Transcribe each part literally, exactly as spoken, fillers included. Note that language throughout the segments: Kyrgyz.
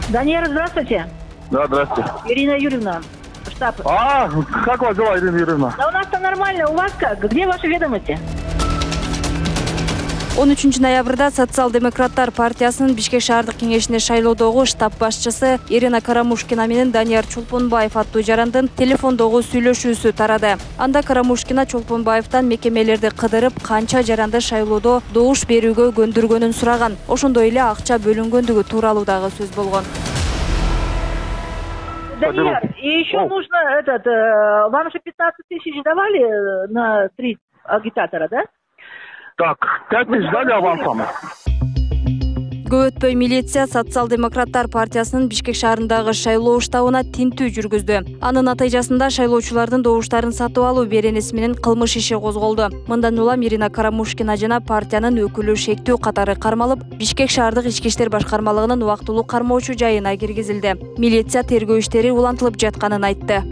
Даниэр, здравствуйте. Да, здравствуйте. Ирина Юрьевна, штаб. А, как вас дела, Ирина Юрьевна? Да у нас там нормально, у вас как? Где ваши ведомости? он үчүнчү ноябрда Социал-демократтар партиясынын Бишкек шаардык кеңешине шайлоодогу штаб башчысы Ирина Карамушкина менен Данияр Чолпонбаев аттуу жарандын телефондогу сүйлөшүүсү тарады. Анда Карамушкина Чолпонбаевтан мекемелерди кыдырып, канча жаранды шайлоодо добуш берүүгө көндүргөнүн сураган. Ошондой эле акча бөлүнгөндүгү тууралуу дагы сөз болгон. Данияр, и еще нужно этот, вам же пятнадцать тысяч давали на три агитатора, да? Так, пять тысяч дали авансом. Көп өтпөй милиция Социал-демократтар партиясынын Бишкек шаарындагы шайлоо штабына тинтүү жүргүздү. Анын натыйжасында шайлоочулардын добуштарын сатып алуу беренеси менен кылмыш иши козголду. Мындан улам Ирина Карамушкина жана партиянын өкүлү шектүү катары кармалып, Бишкек шаардык ички иштер башкармалыгынын убактылуу кармоочу жайына киргизилди. Милиция тергөө иштери улантылып жатканын айтты.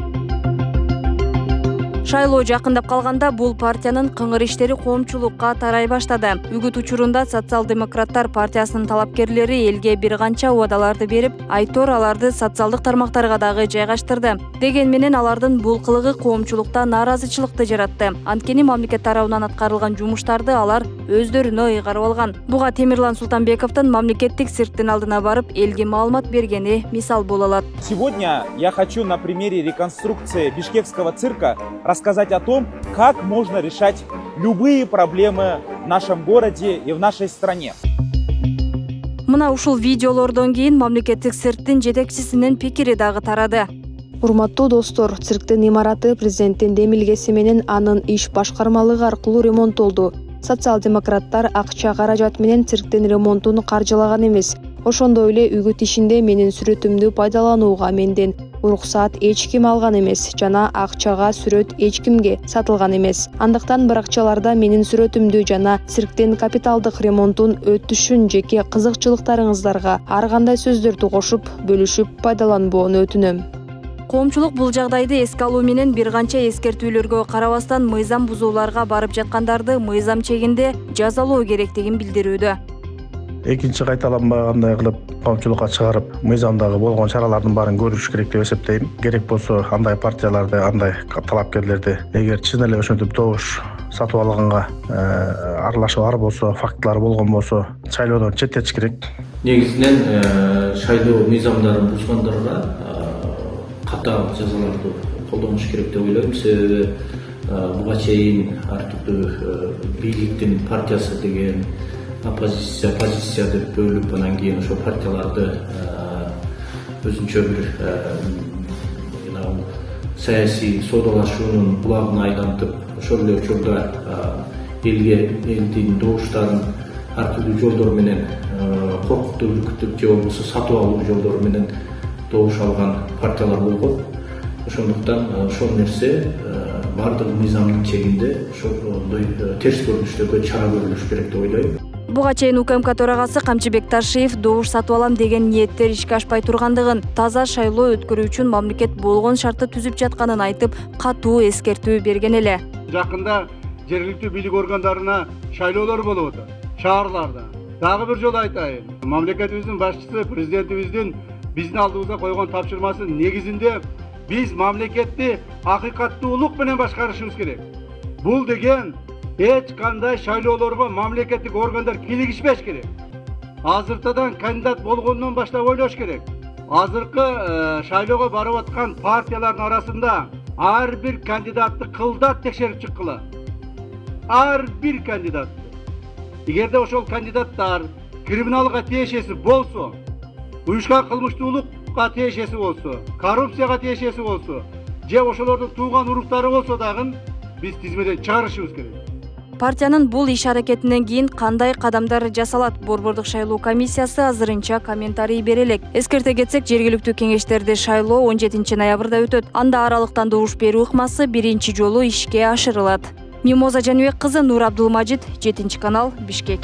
Шайлоо жакындап калганда бул партиянын кыңыр иштери коомчулукка тарай баштады. Үгүт учурунда Социал-демократтар партиясынын талапкерлери элге бир канча убадаларды берип, айтор аларды социалдык тармактарга дагы жайгаштырды. Деген менен алардын бул кылыгы коомчулукта нааразычылыкты жаратты. Анткени мамлекет тарабынан аткарылган жумуштарды алар өздөрүнө ыйгарып алган. Буга Темирлан Султанбековдун мамлекеттик цирктин алдына барып элге маалымат бергени мисал боло алат. Сегодня я хочу на примере реконструкции бишкекского цирка рассказать о том, как можно решать любые проблемы в нашем городе и в нашей стране. Мына ушул видеолордон кийин мамлекеттик цирктин жетекчисинин пикири дагы тарады. Урматтуу достор, цирктин имараты президенттин демилгеси менен анын иш башкармалыгы аркылуу ремонттолду. Социал-демократтар акча каражат менен цирктин ремонтун каржылаган эмес. Ошондой эле үгүт ишинде менин сүрөтүмдү пайдаланууга менден уруксаат эч ким алган эмес жана акчага сүрөт эч кимге сатылган эмес. Андыктан баракчаларда менин сүрөтүмдү жана цирктин капиталдык ремонтун өтүшүн жеке кызыкчылыктарыңыздарга ар кандай сөздөрдү кошуп, бөлүшүп пайдаланбоону өтүнөм. Коомчулук бул жагдайды эске алуу менен бир канча эскертүүлөргө карабастан мыйзам бузууларга барып жаткандарды мыйзам чегинде жазалоо керектигин билдирүүдө. Экинчи кайталанбагандай кылып коомчулукка чыгарып, мыйзамдагы болгон чаралардын баарын көрүш керек деп эсептейм. Керек болсо андай партияларды, андай талапкерлерди эгер чын эле ошентип добуш сатып алганга аралашып бар болсо, фактылар болгон болсо, шайлоодон четтетиш керек. Негизинен шайлоо мыйзамдарын бузгандарга катаал жазаларды колдонуш керек деп ойлойм. Себеби буга чейин ар түрдүү бийликтин партиясы деген оппозиция, оппозиция деп бөлүп, анан кийин ошо партияларды өзүнчө бир саясий соодалашуунун булагына айлантып, ошол эле учурда элге элдин добуштарын ар түрдүү жолдор менен коркутуп, үркүтүп же болбосо сатып алуу жолдору менен добуш алган партиялар болгон. Ошондуктан ошол нерсе бардык мыйзамдын чегинде ошондой терс көрүнүштөргө чара көрүлүш керек деп ойлойм. Буга чейин УКМК төрагасы Камчыбек Ташиев добуш сатып алам деген ниеттер ишке ашпай тургандыгын, таза шайлоо өткөрүү үчүн мамлекет болгон шартты түзүп жатканын айтып, катуу эскертүү берген эле. Жакында жергиликтүү бийлик органдарына шайлоолор болуп атат, шаарларда. Дагы бир жолу айтайын, мамлекетибиздин башчысы, президентибиздин биздин алдыбызга койгон тапшырмасы негизинде биз мамлекетти акыйкаттуулук менен башкарышыбыз керек. Бул деген эч кандай шайлоолорго мамлекеттик органдар кийлигишпеш керек. Азыртадан кандидат болгондон баштап ойлош керек. Азыркы шайлоого барып аткан партиялардын арасында ар бир кандидатты кылдат текшерип чыккыла. Ар бир кандидатты. Эгерде ошол кандидаттар криминалга тиешеси болсо, уюшкан кылмыштуулукка тиешеси болсо, коррупцияга тиешеси болсо, же ошолордун тууган уруктары болсо дагы биз тизмеден чыгарышыбыз керек. Партиянын бул иш аракетинен кийин кандай кадамдар жасалат? Борбордук шайлоо комиссиясы азырынча комментарий бере элек. Эскерте кетсек, жергиликтүү кеңештерде шайлоо он жетинчи ноябрда өтөт. Анда аралыктан добуш берүү ыкмасы биринчи жолу ишке ашырылат. Мимоза Жаныбек кызы, Нур Абдулмажит, жетинчи канал, Бишкек.